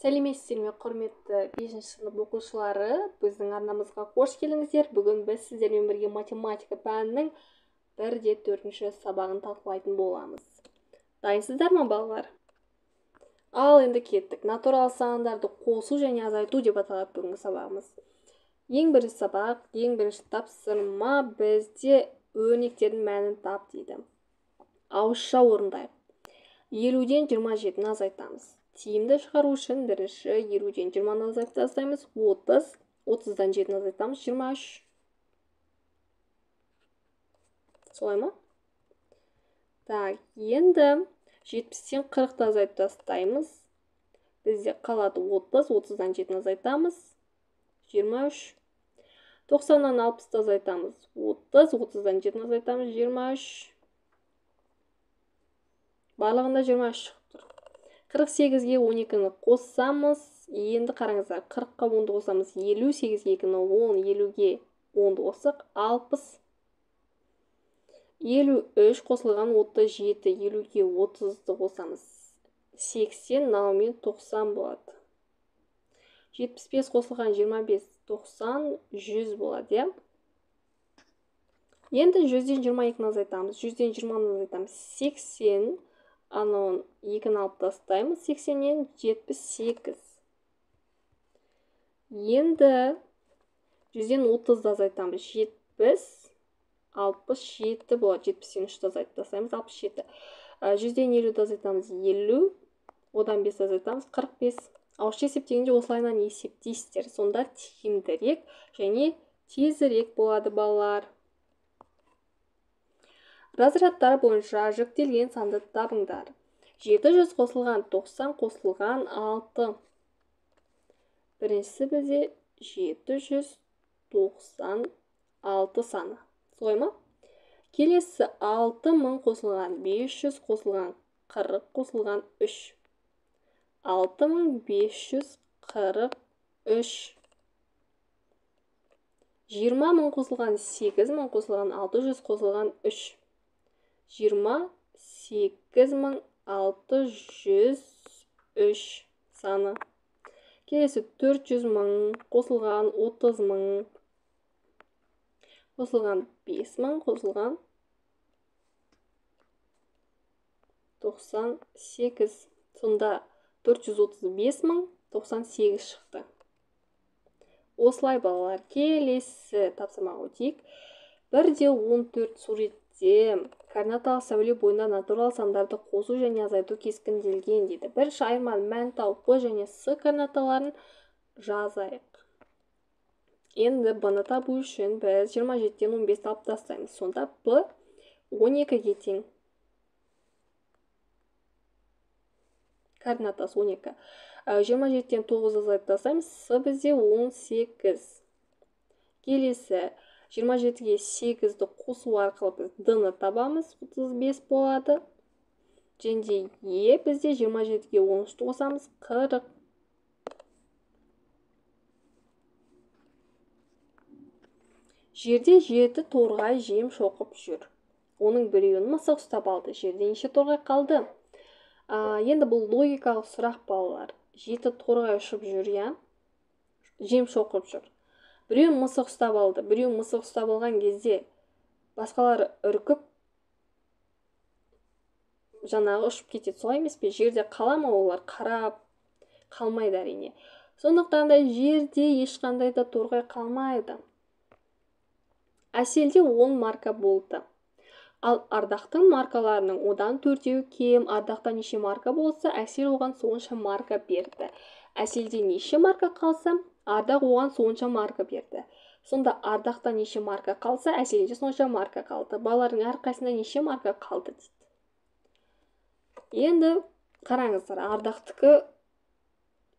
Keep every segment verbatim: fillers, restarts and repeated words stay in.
Сәлеметсіздер ме, құрметті бесінші сынып оқушылары, біздің арнамызға қош келдіңіздер. Бүгін біз сіздермен бірге математика пәнінің бір де төртінші сабағын талқылайтын боламыз. Дайынсыздар ма, балалар? Ал енді кеттік. Натурал сандарды қосу және азайту деп аталады бүгінгі сабағымыз. Ең бірінші сабақ, ең бірінші тапсырма бізде өрнектердің мәнін тап дейді. Ауызша орындайық. елуден жиырма жетіні азайтамыз. Тиімді шығару үшін бірінші елуден жиырманы азайтып тастаймыз. отыз, отыздан жетіні азайтамыз. жиырма үш. Солай ма? Так, енді жетпістен қырықты азайтып тастаймыз. Бізде қалады отыз, отыздан жетіні азайтамыз. жиырма үш. тоқсаннан алпысты азайтамыз. отыз, отыздан жетіні азайтамыз. жиырма үш. Барлығында жиырма үш шығып тұр. қырық сегізге он екіні қоссамыз, енді қараңыздар, қырыққа онды қосамыз, елу, сегізге екіні он, елуге онды қоссақ, алпыс. елу үш қосылған отыз жеті, елуге отызды қосамыз, сексен, мынамен тоқсан болады. жетпіс бес қосылған жиырма бес, тоқсан, жүз болады, иә? Енді жүзден жиырма екіні азайтамыз, жүзден жиырманы азайтамыз, сексен, анауын екіні алып тастаймыз, сексеннен жетпіс сегіз. Енді жүзден отызды азайтамыз, жетпіс, алпыс жеті болады, жетпістен үшті азайтып тастаймыз, алпыс жеті. жүзден елуді азайтамыз, елу, одан бес азайтамыз, қырық бес. Ауызша есептегенде осылайынан есептейсіздер, сонда тиімдірек және тезірек болады, балалар. Разрядтар бойынша жүктелген санды табыңдар. жеті жүз қосылған тоқсан қосылған алты. Біріншісі бізде жеті жүз тоқсан алты саны. Солай ма? Келесі алты мың қосылған бес жүз қосылған қырық қосылған үш. алты мың бес жүз қырық үш. жиырма мың қосылған сегіз мың қосылған алты жүз қосылған үш. жиырма сегіз мың алты жүз үш саны. Келесі төрт жүз мың қосылған отыз мың. Қосылған бес мың қосылған тоқсан сегіз. Сонда төрт жүз отыз бес мың тоқсан сегіз шықты. Осылай, балалар, келесі тапсырмаға өтейік. бір де он төрт суретте координаталық сәуле бойында натурал сандарды қосу және азайту кескінделген дейді. Бірінші айырманың мән тауып П және С координаталарын жазайық. Енді Б-ны табу үшін біз жиырма жетіден он бесті алып тастаймыз. Сонда П он екіге тең. Координатасы он екі. жиырма жетіден тоғызды азайтып тастаймыз. С бізде он сегіз. Келесі жиырма жетіге сегізді қосу арқылы біз Д-ны табамыз, отыз бес болады. Және Е бізде жиырма жетіге он үшті қосамыз, қырық. Жерде жеті торғай жем шоқып жүр. Оның біреуін мысық ұстап алды. Жерде неше торғай қалды? Енді бұл логикалық сұрақ, балалар. Жеті торғай ұшып жүр, я? Жем шоқып жүр. Біреуін мысық ұстап алды. Біреуін мысық ұстап алған кезде басқалары үркіп жаңағы ұшып кетеді. Солай емес пе? Жерде қала ма олар? Қарап қалмайды әрине. Сондықтан да жерде ешқандай да торғай қалмайды. Әселде он марка болды. Ал Ардақтың маркаларының одан төртеуі кем. Ардақта неше марка болса, Әсел оған сонша марка берді. Әселде неше марка қалса, Ардақ оған сонша марка берді. Сонда Ардақта неше марка қалса, Әселде сонша марка қалды. Балалардың әрқайсында неше марка қалды дейді. Енді қараңыздар, Ардақтікі,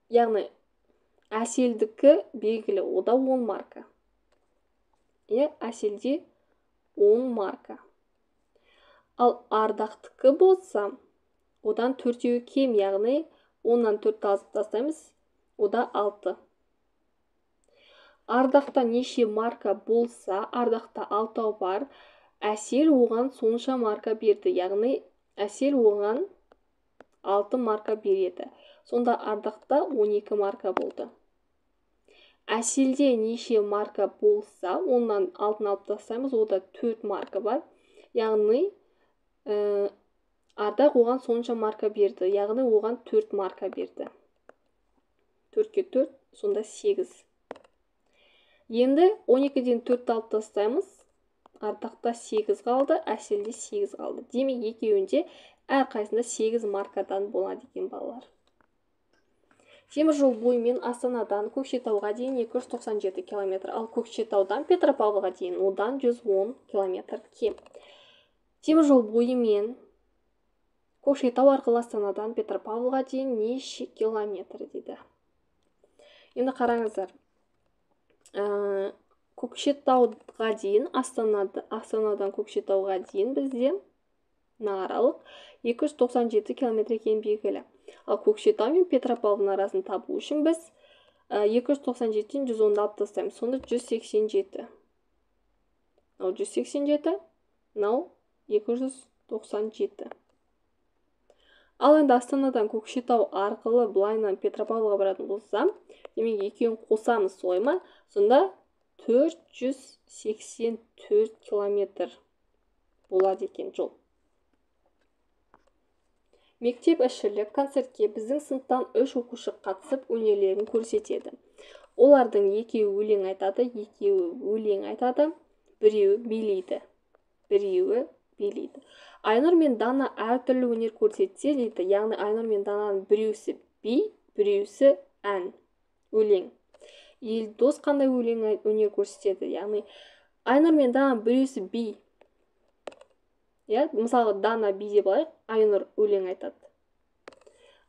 яғни Әселдікі белгілі, ода он марка. Е, Әселде он марка. Ал Ардақтікі болса, одан төртеуі кем, яғни оннан төртті азып тастаймыз, ода алты. Ардақта неше марка болса, Ардақта алтау бар, Әсел оған сонша марка берді, яғни Әсел оған алты марка береді. Сонда Ардақта он екі марка болды. Әселде неше марка болса, ондан алтын алып тастаймыз, ода төрт марка бар. Яғни ә, Ардақ оған сонша марка берді, яғни оған төрт марка берді. төртке төрт, сонда сегіз. Енді он екіден төртті алып тастаймыз. Ардақта сегіз қалды, Әселде сегіз қалды. Демек екеуінде әрқайсында сегіз маркадан болады екен балалар. Темір жол бойымен Астанадан Көкшетауға дейін екі жүз тоқсан жеті километр, ал Көкшетаудан Петропавлға дейін одан жүз он километр кем. Темір жол бойымен Көкшетау арқылы Астанадан Петропавлға дейін неше километр дейді. Енді қараңыздар. Ә, Көкшетауға дейін, Астанадан, Астанадан Көкшетауға дейін бізде аралық екі жүз тоқсан жеті километр екені белгілі. Ал Көкшетау мен Петропавлдың арасын табу үшін біз екі жүз тоқсан жетіден жүз онды алып тастаймыз. Сонда жүз сексен жеті. Ал жүз сексен жеті, мынау екі жүз тоқсан жеті. Ал енді Астанадан Көкшетау арқылы былайынан Петропавлға баратын болсам, демек екеуін қосамыз, солай ма? Сонда төрт жүз сексен төрт километр болады екен жол. Мектеп ішілік концертке біздің сыныптан үш оқушы қатысып өнерлерін көрсетеді. Олардың екеуі өлең айтады, екеуі өлең айтады, біреуі билейді. Біреуі билейді. Айнұр мен Дана әртүрлі өнер көрсетсе дейді. Яғни Айнұр мен Дананың біреусі би, біреусі ән, өлең. Елдос қандай өлең өнер көрсетеді? Яғни Айнұр мен Дананың біреусі би. Мысалы, Дана би деп алайық, Айнұр өлең айтады.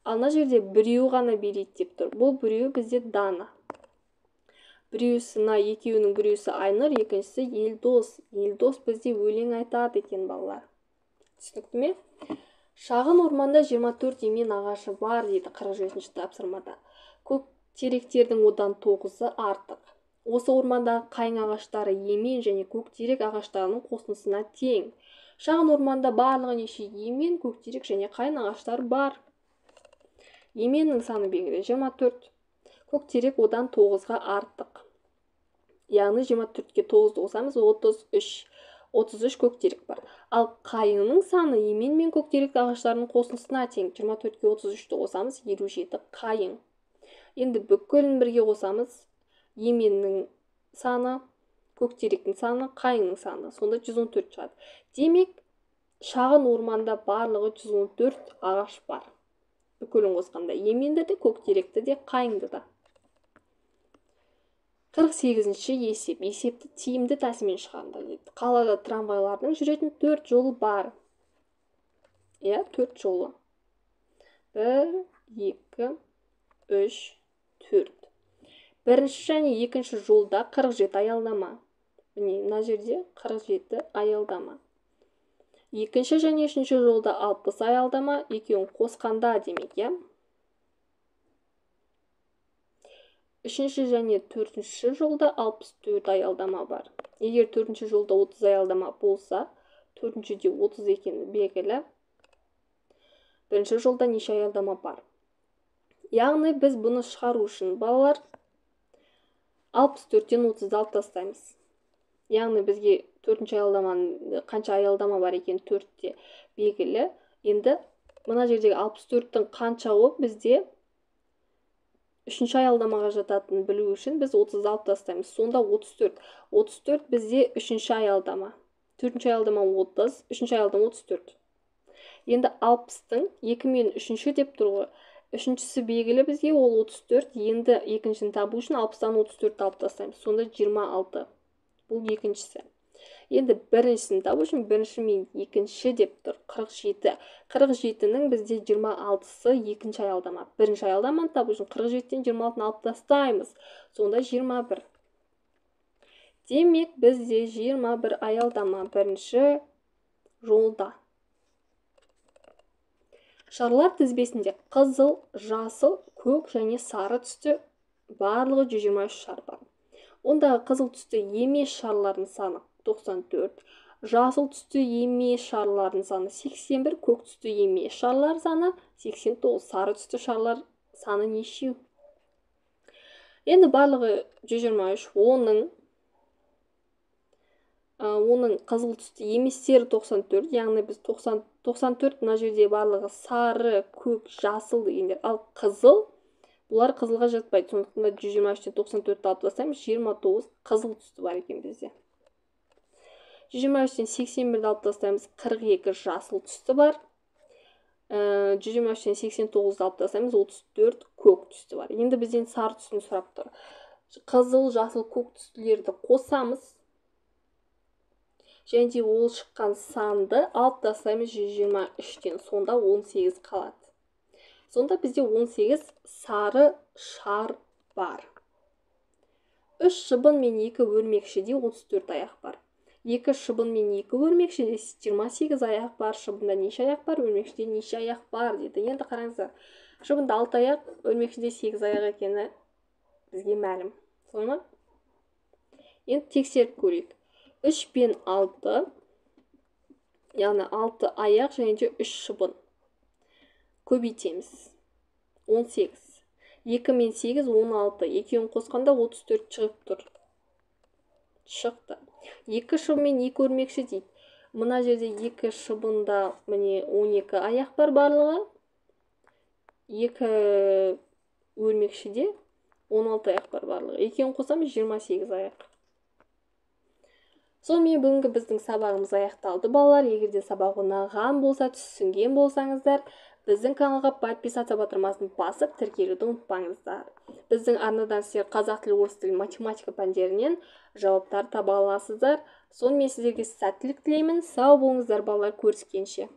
Ал мына жерде біреу ғана билейді деп тұр. Бұл біреу бізде Дана. Біреусі, мына екеуінің біреусі Айнұр, екіншісі Елдос. Елдос бізде өлең айтады екен балалар. Түсінікті ме? Шағын орманда жиырма төрт емен ағашы бар дейді қырық жетінші тапсырмада. Көк теректердің одан тоғызы артық. Осы ормандағы қайың ағаштары емен және көктерек ағаштарының қосындысына тең. Шағын орманда барлығы неше емен, көктерек және қайын ағаштар бар. Еменнің саны белгілі жиырма төрт. Көктерек одан тоғызға артық. Яғни жиырма төртке тоғызды қосамыз, отыз үш. отыз үш көктерек бар. Ал қайыңның саны емен мен көктерек ағаштарының қосындысына тең. жиырма төртке отыз үшті қосамыз, елу жеті қайың. Енді бүкілін бірге қосамыз, еменнің саны, көктеректің саны, қайыңның саны. Сонда жүз он төрт шығады. Демек, шағын орманда барлығы жүз он төрт ағаш бар. Бүкілін қосқанда еменді де, көктеректі де, қайыңды да. қырық сегізінші есеп. Есепті тиімді тәсілмен шығарыңдар дейді. Қалада трамвайлардың жүретін төрт жолы бар. Иә, төрт жолы. бір, екі, үш, төрт. Бірінші және екінші жолда қырық жеті аялдама. Міне, мына жерде қырық жеті аялдама. Екінші және үшінші жолда алпыс аялдама, екеуін қосқанда демек, иә? Үшінші және төртінші жолда алпыс төрт аялдама бар. Егер төртінші жолда отыз аялдама болса, төртіншіде отыз екені белгілі. Бірінші жолда неше аялдама бар? Яғни біз бұны шығару үшін балалар алпыс төрттен отызды алып тастаймыз. Яғни бізге төртінші аялдаманың қанша аялдама бар екен төртте белгілі. Енді мына жердегі алпыс төрттің қаншауы бізде үшінші аялдамаға жататынын білу үшін біз отызды алып тастаймыз. Сонда отыз төрт. отыз төрт бізде үшінші аялдама. төртінші аялдама отыз, үшінші аялдама отыз төрт. Енді алпыстың екі мен үшінші деп тұр ғой. Үшіншісі белгілі бізге, ол отыз төрт. Енді екіншіні табу үшін алпыстан отыз төртті алып тастаймыз. Сонда жиырма алты. Бұл екіншісі. Енді біріншісін табу үшін бірінші мен екінші деп тұр. қырық жеті. қырық жетінің бізде жиырма алтысы екінші аялдама. Бірінші аялдаманы табу үшін қырық жетіден жиырма алтыны алып тастаймыз. Сонда жиырма бір. Демек бізде жиырма бір аялдама бірінші жолда. Шарлар тізбесінде қызыл, жасыл, көк және сары түсті барлығы жүз жиырма үш шар бар. Ондағы қызыл түсті емес шарлардың саны тоқсан төрт, жасыл түсті емес шарлардың саны сексен бір, көк түсті емес шарлар саны сексен тоғыз, сары түсті шарлар саны нешеу? Енді барлығы жүз жиырма үш, оның оның қызыл түсті еместері тоқсан төрт, яғни біз тоқсан төрт мына жерде барлығы сары, көк, жасыл дегендер. Ал қызыл, бұлар қызылға жатпайды. Сондықтан да жүз жиырма үштен тоқсан төртті алып тастаймыз, жиырма тоғыз қызыл түсті бар екен бізде. жүз жиырма үштен сексен бірді алып тастаймыз, қырық екі жасыл түсті бар. жүз жиырма үштен сексен тоғызды алып тастаймыз, отыз төрт көк түсті бар. Енді бізден сары түсін сұрап тұр. Қызыл, жасыл, көк түстілерді қосамыз. Және де ол шыққан санды алып тастаймыз жүз жиырма үштен. Сонда он сегіз қалады. Сонда бізде он сегіз сары шар бар. үш шыбын мен екі өрмекшіде отыз төрт аяқ бар. екі шыбын мен екі өрмекшіде жиырма сегіз аяқ бар. Шыбында неше аяқ бар, өрмекшіде неше аяқ бар дейді. Енді қараңыздар. Шыбында алты аяқ, өрмекшіде сегіз аяқ екені бізге мәлім. Солай ма? Енді тексеріп көрейік. үш пен алты, яғни алты аяқ және де үш шыбын. Көбейтеміз. он сегіз. екі мен сегіз, он алты. екеуін қосқанда отыз төрт шығып тұр. Шықты. екі шыбын мен екі өрмекші дейді. Мына жерде екі шыбында міне он екі аяқ бар барлығы. екі өрмекшіде он алты аяқ бар барлығы. Екеуін қосамыз жиырма сегіз аяқ. Сонымен бүгінгі біздің сабағымыз аяқталды балалар. Егерде сабақ ұнаған болса, түсінген болсаңыздар, біздің каналға подписаться батырмасын басып тіркелуді ұмытпаңыздар. Біздің арнадан сіздер қазақ тілі, орыс тілі, математика пәндерінен жауаптар таба аласыздар. Сонымен сіздерге сәттілік тілеймін. Сау болыңыздар балалар, көріскенше.